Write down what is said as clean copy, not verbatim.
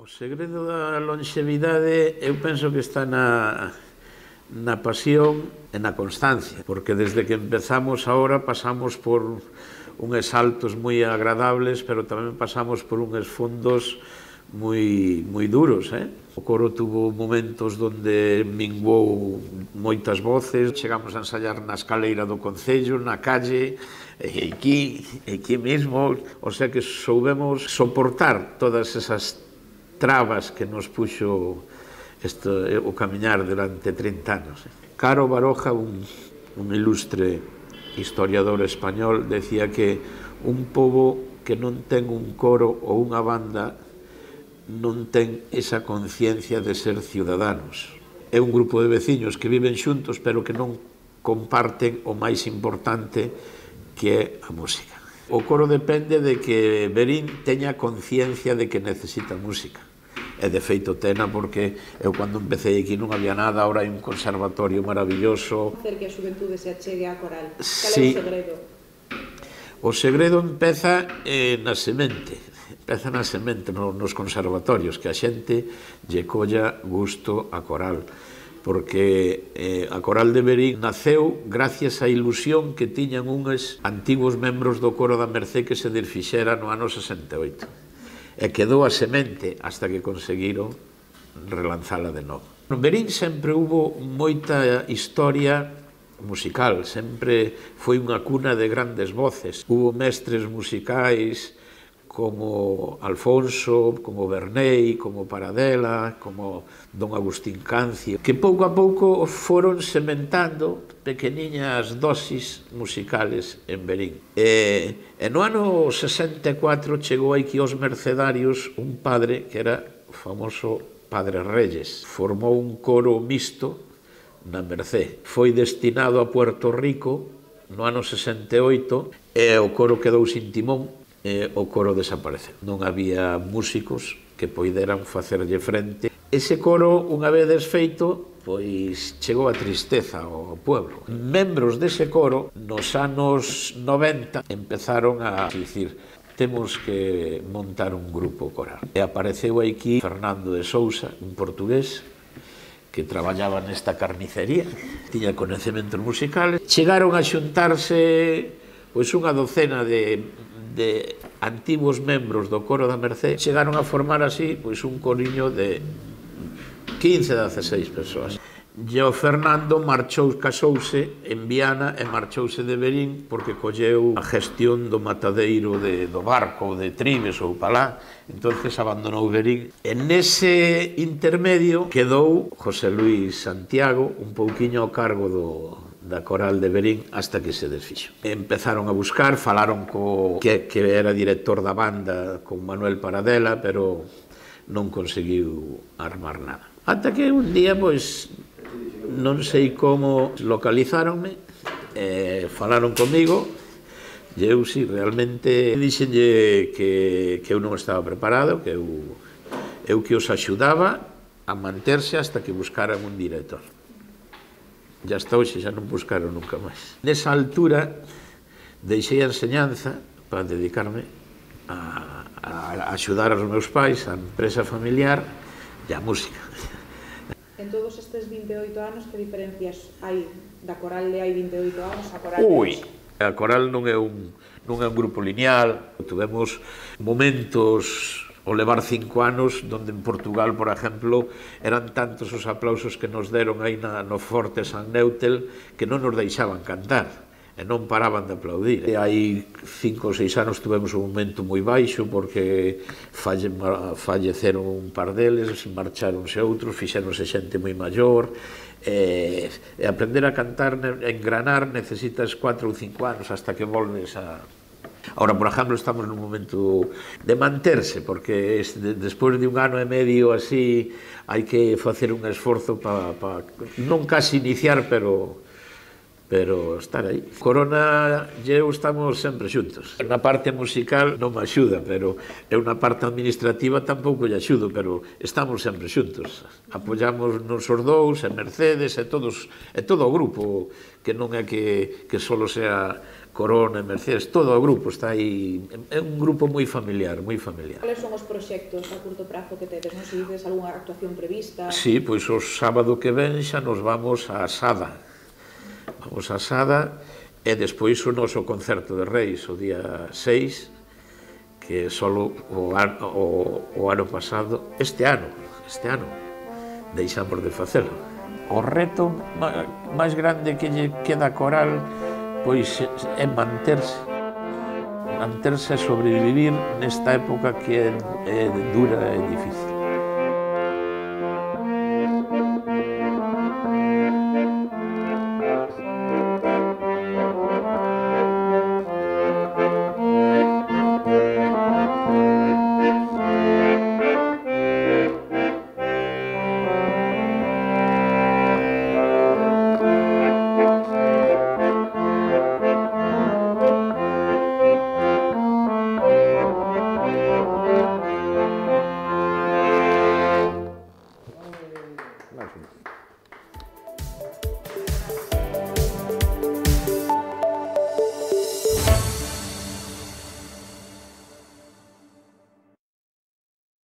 O segredo da longevidade eu penso que está na pasión e na constancia, porque desde que empezamos ahora pasamos por uns saltos moi agradables, pero tamén pasamos por uns fondos moi duros. O coro tuvo momentos onde minguou moitas voces, chegamos a ensayar na escaleira do Concello, na calle, e aquí mesmo, o sea que soubemos soportar todas esas trabas que nos puxo o camiñar durante 30 anos. Caro Baroja, un ilustre historiador español, decía que un pobo que non ten un coro ou unha banda non ten esa conciencia de ser ciudadanos. É un grupo de veciños que viven xuntos pero que non comparten o máis importante, que é a música. O coro depende de que Verín teña conciencia de que necesita música. E de feito tena, porque eu cando empecé aquí non había nada, ahora hai un conservatorio maravilloso. Hacer que a xuventude se achegue á coral. Cal é o segredo? O segredo empeza na semente. Empeza na semente, nos conservatorios, que a xente lle colla gusto a coral. Porque a Coral de Verín naceu gracias á ilusión que tiñan uns antigos membros do coro da Mercé que se desfixera no ano 68. E quedou a semente hasta que conseguiron relanzala de novo. En Verín sempre hubo moita historia musical, sempre foi unha cuna de grandes voces. Hubo mestres musicais como Alfonso, como Bernei, como Paradela, como Don Agustín Cancio, que pouco a pouco foron sementando pequeniñas dosis musicales en Verín. E no ano 64 chegou aquí aos Mercedarios un padre que era o famoso Padre Reyes. Formou un coro mixto na Mercé. Foi destinado a Puerto Rico no ano 68 e o coro quedou sin timón e o coro desapareceu. Non había músicos que poideran facerlle frente. Ese coro, unha vez desfeito, pois chegou a tristeza ao pueblo. Membros dese coro, nos anos 90, empezaron a dicir: temos que montar un grupo coral. E apareceu aquí Fernando de Sousa, un portugués, que traballaba nesta carnicería, tiña coñecementos musicales. Chegaron a xuntarse pois unha docena de antigos membros do coro da Mercé, chegaron a formar así pois un coriño de 15 a 16 persoas. E o Fernando casouse en Viana e marchouse de Verín porque colleu a gestión do matadeiro do Barco ou de Tribes ou Palá, entonces abandonou Verín. E nese intermedio quedou José Luis Santiago un pouquiño ao cargo da Coral de Verín hasta que se desfixo. Empezaron a buscar, falaron que era director da banda con Manuel Paradela, pero non conseguiu armar nada. Ata que un día, pois, non sei como localizáronme, falaron comigo, e eu, si, realmente dixenlle que eu non estaba preparado, que eu que os axudaba a manterse hasta que buscaran un director. Ya hasta hoxe xa non buscaron nunca máis. Nesa altura deixei a enseñanza para dedicarme a axudar aos meus pais, a empresa familiar e a música. En todos estes 28 anos, que diferencias hai da coral de hai 28 anos a coral de hoxe? A coral non é un grupo lineal. Tivemos momentos ao levar 5 anos, donde en Portugal, por exemplo, eran tantos os aplausos que nos deron aí no Forte San Neutel que non nos deixaban cantar e non paraban de aplaudir. E hai 5 ou 6 anos tivemos un momento moi baixo porque falleceron un par deles, marcharonse outros, fixéronse xente moi maior, e aprender a cantar, a engranar, necesitas 4 ou 5 anos hasta que volves a... Ahora, por exemplo, estamos nun momento de manterse, porque despois de un ano e medio así hai que facer un esforzo para non casi iniciar, pero pero estar aí. Corona e eu estamos sempre xuntos. Na parte musical non me axuda, pero eu na parte administrativa tampouco lle axudo, pero estamos sempre xuntos. Apoiamos nos os dous, e Mercedes, e todo o grupo, que non é que solo sea Corona e Mercedes, todo o grupo está aí, é un grupo moi familiar, moi familiar. Cales son os proxectos a curto prazo que tedes? Non se dices algunha actuación prevista? Sí, pois o sábado que ven xa nos vamos a Sada. Vamos a Sada e despois o noso concerto de Reis o día 6, que solo o ano pasado, este ano, deixamos de facelo. O reto máis grande que lle queda a coral pois é manterse e sobrevivir nesta época que é dura e difícil.